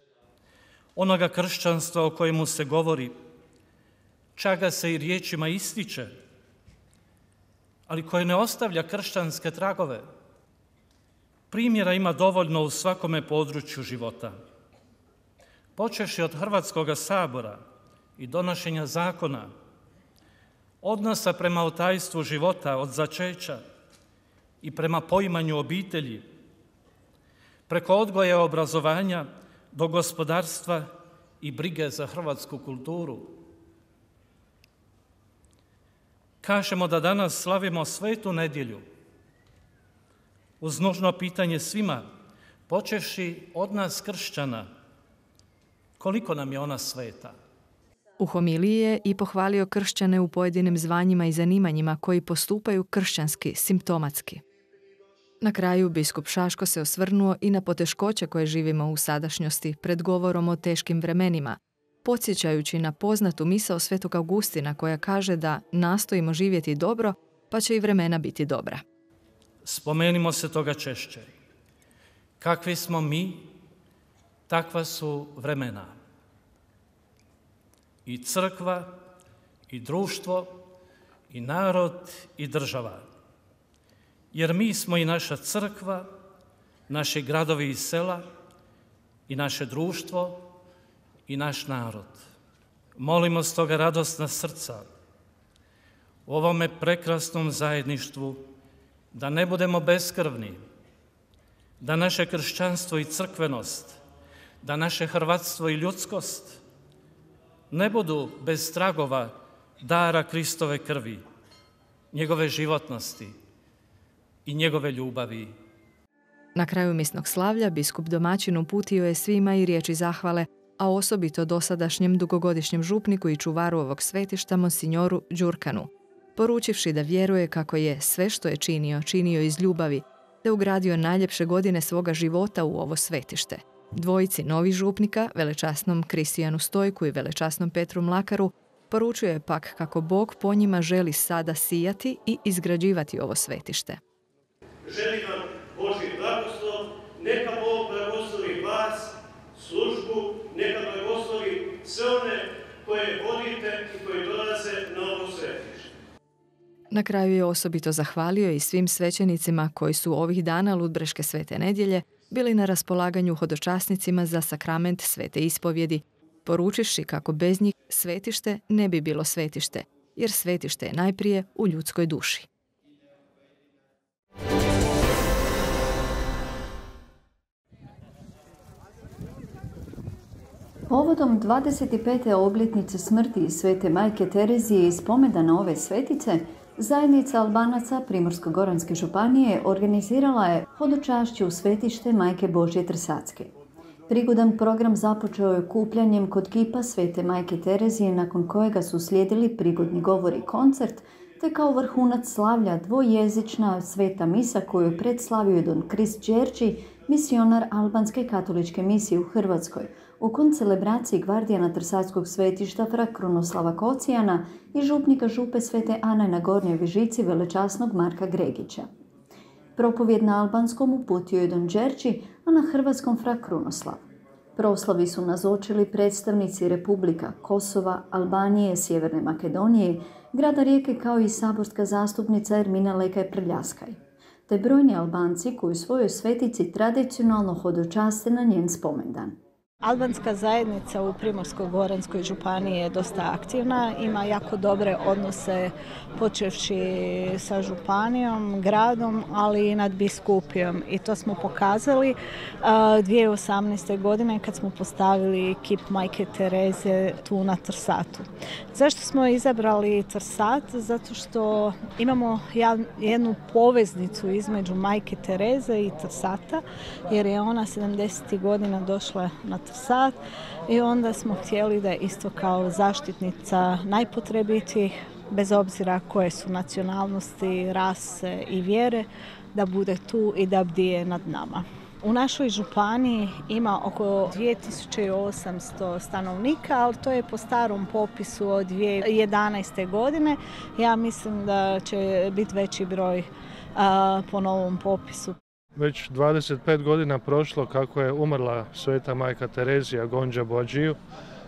Onoga kršćanstva o kojemu se govori, čak ga se i riječima ističe, ali koje ne ostavlja kršćanske tragove. Primjera ima dovoljno u svakome području života. Počevši od Hrvatskoga sabora i donošenja zakona, odnosa prema otajstvu života od začeća i prema poimanju obitelji, preko odgoja i obrazovanja do gospodarstva i brige za hrvatsku kulturu. Kažemo da danas slavimo svetu nedjelju, uz nužno pitanje svima, počevši od nas kršćana, koliko nam je ona sveta. U homiliji je i pohvalio kršćane u pojedinim zvanjima i zanimanjima koji postupaju kršćanski, simptomatski. Na kraju biskup Šaško se osvrnuo i na poteškoće koje živimo u sadašnjosti pred govorom o teškim vremenima, podsjećajući na poznatu misao Svetog Augustina koja kaže da nastojimo živjeti dobro, pa će i vremena biti dobra. Spomenimo se toga češće. Kakvi smo mi, Takva su vremena. I crkva, i društvo, i narod, i država. Jer mi smo i naša crkva, naši gradovi i sela, i naše društvo, i naš narod. Molimo stoga radosna srca u ovome prekrasnom zajedništvu da ne budemo beskrvni, da naše kršćanstvo i crkvenost, da naše hrvatstvo i ljudskost ne budu bez tragova dara Kristove krvi, njegove životnosti i njegove ljubavi. Na kraju misnog slavlja biskup domaćin uputio je svima i riječi zahvale, a osobito dosadašnjem dugogodišnjem župniku i čuvaru ovog svetišta monsinjoru Đurkanu, poručivši da vjeruje kako je sve što je činio, činio iz ljubavi, te ugradio najljepše godine svoga života u ovo svetište. Dvojici novih župnika, velečasnom Kristijanu Stojku i velečasnom Petru Mlakaru, poručuje je pak kako Bog po njima želi sada sijati i izgrađivati ovo svetište. Želim vam Božji blagoslov, neka Bog blagoslovi vas, službu, neka blagoslovi sve one koje vodite i koji dolaze na ovo svetište. Na kraju je osobito zahvalio i svim svećenicima koji su ovih dana Ludbreške svete nedjelje bili na raspolaganju hodočasnicima za sakrament svete ispovjedi, poručiši kako bez njih svetište ne bi bilo svetište, jer svetište je najprije u ljudskoj duši. Povodom dvadeset pete obljetnice smrti svete majke Terezije i spomendana ove svetice, zajednica Albanaca Primorsko-goranske županije organizirala je hodočašću u svetište Majke Božje Trsatske. Prigodan program započeo je kupljanjem kod kipa svete majke Terezije, nakon kojega su slijedili prigodni govor i koncert, te kao vrhunac slavlja dvojezična sveta misa koju je predslavio don Krist Đerđi, misionar albanske katoličke misije u Hrvatskoj, u koncelebraciji gvardijana Trsatskog svetišta fra Krunoslava Kocijana i župnika župe svete Ane na Gornjoj Vežici velečasnog Marka Gregića. Propovjed na albanskom uputio je don Đerđi, a na hrvatskom fra Krunoslav. Proslavi su nazočili predstavnici Republika Kosova, Albanije, Sjeverne Makedonije, grada Rijeke kao i saborska zastupnica Ermina Lekaj Prljaskaj, te brojni Albanci koji u svojoj svetici tradicionalno hodočaste na njen spomendan. Albanska zajednica u Primorsko-goranskoj županiji je dosta aktivna, ima jako dobre odnose počevši sa županijom, gradom, ali i nadbiskupijom. I to smo pokazali uh, dvije tisuće osamnaeste. godine kad smo postavili kip Majke Tereze tu na Trsatu. Zašto smo izabrali Trsat? Zato što imamo jednu poveznicu između Majke Tereze i Trsata, jer je ona sedamdesetih godina došla na Trsat i onda smo htjeli da isto kao zaštitnica najpotrebitijih, bez obzira koje su nacionalnosti, rase i vjere, da bude tu i da bdije nad nama. U našoj županiji ima oko dvije tisuće osamsto stanovnika, ali to je po starom popisu od dvije tisuće jedanaeste. godine. Ja mislim da će biti veći broj a, po novom popisu. Već dvadeset pet godina prošlo kako je umrla sveta majka Terezija Gonđa Bođiju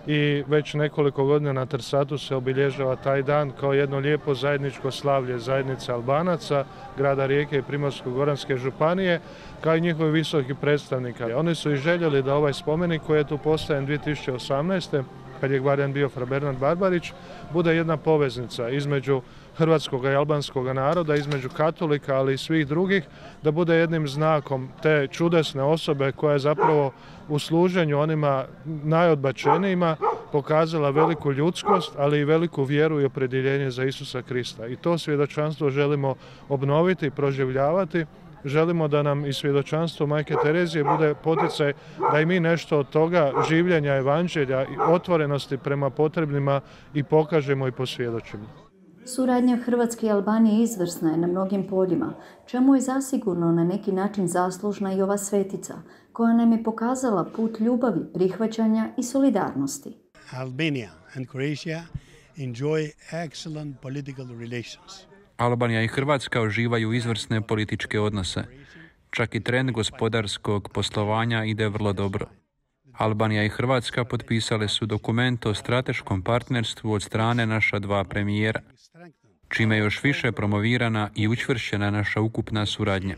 i već nekoliko godina na Trsatu se obilježava taj dan kao jedno lijepo zajedničko slavlje zajednice Albanaca, grada Rijeke i Primorsko-goranske županije, kao i njihovi visoki predstavnika. Oni su i željeli da ovaj spomenik koji je tu postavljen dvije tisuće osamnaeste. kad je gvardijan bio fra Bernard Barbarić, bude jedna poveznica između hrvatskog i albanskog naroda, između katolika, ali i svih drugih, da bude jednim znakom te čudesne osobe koja je zapravo u služenju onima najodbačenijima pokazala veliku ljudskost, ali i veliku vjeru i opredjeljenje za Isusa Krista. I to svjedočanstvo želimo obnoviti i proživljavati. Želimo da nam i svjedočanstvo Majke Terezije bude poticaj da i mi nešto od toga življenja evanđelja i otvorenosti prema potrebnima i pokažemo i posvjedočimo. Suradnja Hrvatske i Albanije izvrsna je na mnogim poljima, čemu je zasigurno na neki način zaslužna i ova svetica, koja nam je pokazala put ljubavi, prihvaćanja i solidarnosti. Albania and Croatia enjoy excellent political relations. Albanija i Hrvatska uživaju izvrsne političke odnose. Čak i trend gospodarskog poslovanja ide vrlo dobro. Albanija i Hrvatska potpisale su dokument o strateškom partnerstvu od strane naša dva premijera, čime je još više promovirana i učvršćena naša ukupna suradnja.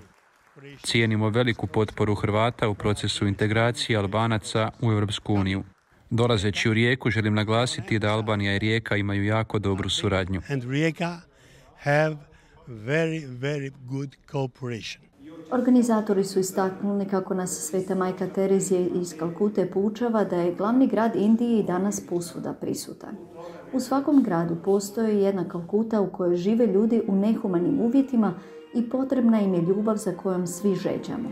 Cijenimo veliku potporu Hrvata u procesu integracije Albanaca u Europsku uniju. Dolazeći u Rijeku želim naglasiti da Albanija i Rijeka imaju jako dobru suradnju. Organizatori su istaknuli kako nas Sveta majka Terezija iz Kalkute poučava da je glavni grad Indije i danas posvuda prisutan. U svakom gradu postoji jedna Kalkuta u kojoj žive ljudi u nehumanim uvjetima i potrebna im je ljubav za kojom svi žeđamo.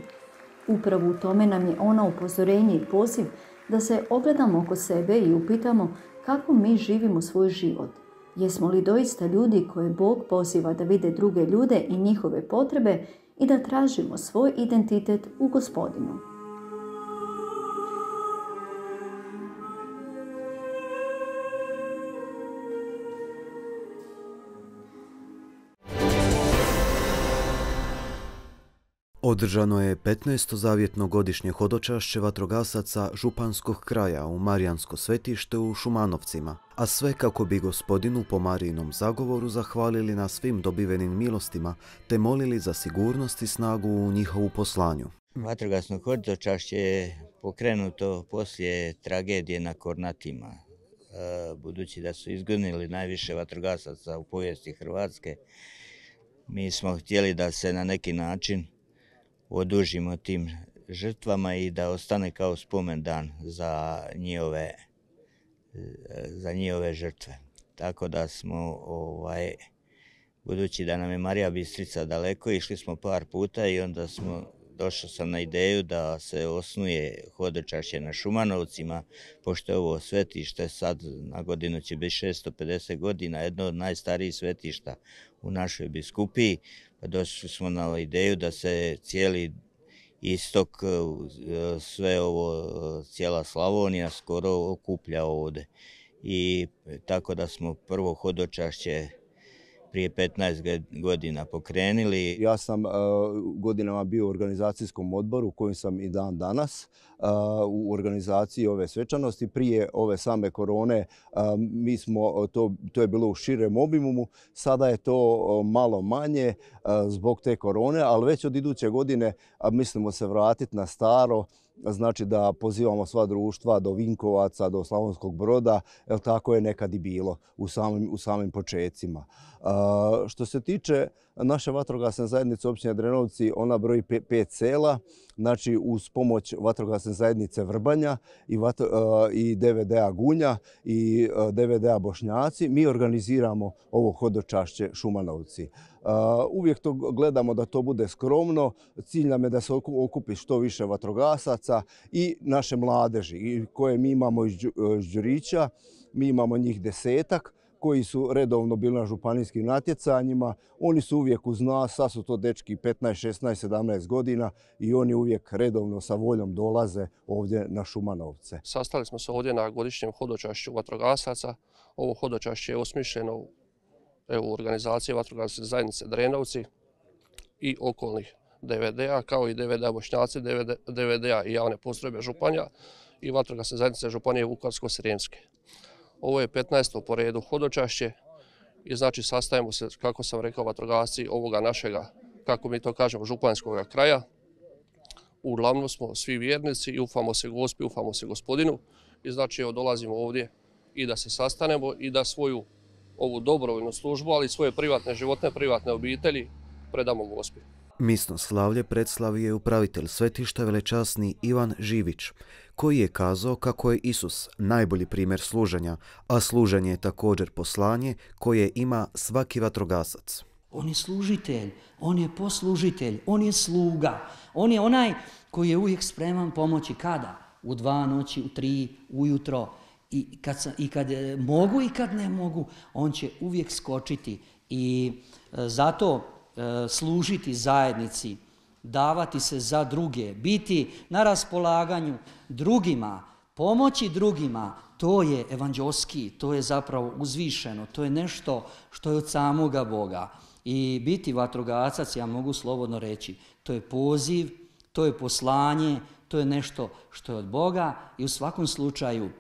Upravo u tome nam je ona upozorenje i poziv da se ogledamo oko sebe i upitamo kako mi živimo svoj život. Jesmo li doista ljudi koje Bog poziva da vide druge ljude i njihove potrebe i da tražimo svoj identitet u Gospodinu. Održano je petnaesto zavjetno godišnje hodočašće vatrogasaca Županskog kraja u Marijansko svetište u Šumanovcima, a sve kako bi Gospodinu po Marijinom zagovoru zahvalili na svim dobivenim milostima te molili za sigurnost i snagu u njihovu poslanju. Vatrogasno hodočašće je pokrenuto poslije tragedije na Kornatima. Budući da su izgonili najviše vatrogasaca u povijesti Hrvatske, mi smo htjeli da se na neki način odužimo tim žrtvama i da ostane kao spomendan za njihove, za njihove žrtve. Tako da smo, ovaj, budući da nam je Marija Bistrica daleko, išli smo par puta i onda smo, došao sam na ideju da se osnuje hodočašće na Šumanovcima, pošto je ovo svetište sad na godinu će biti šesto pedeset godina, jedno od najstarijih svetišta u našoj biskupiji. Pa došli smo na ideju da se cijeli istok, sve ovo, cijela Slavonija skoro okuplja ovdje. I tako da smo prvo hodočašće prije petnaest godina pokrenuli. Ja sam uh, godinama bio u organizacijskom odboru u kojem sam i dan danas uh, u organizaciji ove svečanosti. Prije ove same korone uh, mi smo, to, to je bilo u širem obimumu, sada je to uh, malo manje uh, zbog te korone, ali već od iduće godine uh, mislimo se vratiti na staro. Znači da pozivamo sva društva do Vinkovaca, do Slavonskog Broda, jer tako je nekad i bilo u samim, u samim počecima. Uh, što se tiče naše vatrogasne zajednice općine Drenovci, ona broji pet sela, znači uz pomoć vatrogasne zajednice Vrbanja i, uh, i D V D-a Gunja i uh, D V D-a Bošnjaci, mi organiziramo ovo hodočašće Šumanovci. Uh, uvijek to gledamo da to bude skromno, cilj nam je da se okupi što više vatrogasaca i naše mladeži koje mi imamo iz Đurića, mi imamo njih desetak koji su redovno bili na županijskim natjecanjima. Oni su uvijek uz nas, sad su to dečki petnaest, šesnaest, sedamnaest godina i oni uvijek redovno sa voljom dolaze ovdje na Šumanovce. Sastali smo se ovdje na godišnjem hodočašću vatrogasaca. Ovo hodočašće je osmišljeno u organizaciji vatrogasne zajednice Drenovci i okolnih D V D-a, kao i D V D-a Bošnjaci, D V D-a i javne postrojbe Županja i vatrogasne zajednice Županije Vukovarsko-srijemske. Ovo je petnaesto po redu hodočašće i znači sastajemo se, kako sam rekao, vatrogasci ovoga našega, kako mi to kažemo, županjskog kraja. Uglavnom smo svi vjernici i ufamo se Gospi, ufamo se Gospodinu i znači evo dolazimo ovdje i da se sastanemo i da svoju ovu dobrovoljnu službu, ali svoje privatne životne, privatne obitelji predamo Gospi. Misno slavlje predstavio je upravitelj svetišta velečasni Ivan Živić, koji je kazao kako je Isus najbolji primjer služenja, a služenje je također poslanje koje ima svaki vatrogasac. On je služitelj, on je poslužitelj, on je sluga, on je onaj koji je uvijek spreman pomoći kada? U dva noći, u tri, ujutro. I kad, I kad mogu i kad ne mogu, on će uvijek skočiti i e, zato e, služiti zajednici, davati se za druge, biti na raspolaganju drugima, pomoći drugima, to je evanđelski, to je zapravo uzvišeno, to je nešto što je od samoga Boga. I biti vatrogasac, ja mogu slobodno reći, to je poziv, to je poslanje, to je nešto što je od Boga i u svakom slučaju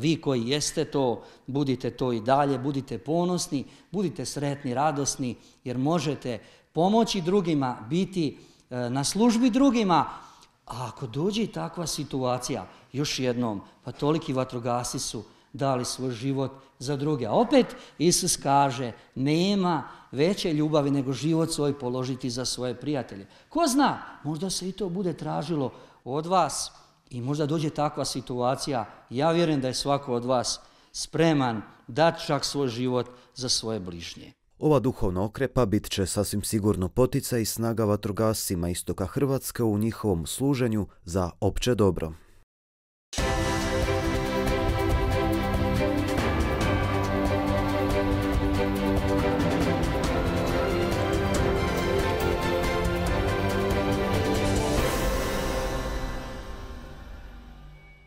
vi koji jeste to, budite to i dalje, budite ponosni, budite sretni, radosni, jer možete pomoći drugima, biti na službi drugima. A ako dođe takva situacija, još jednom, pa toliki vatrogasci su dali svoj život za druge. A opet Isus kaže, nema veće ljubavi nego život svoj položiti za svoje prijatelje. Ko zna, možda se i to bude tražilo od vas i možda dođe takva situacija. Ja vjerujem da je svako od vas spreman dati čak svoj život za svoje bližnje. Ova duhovna okrepa bit će sasvim sigurno poticaj i snaga vatrogascima istoka Hrvatske u njihovom služenju za opće dobro.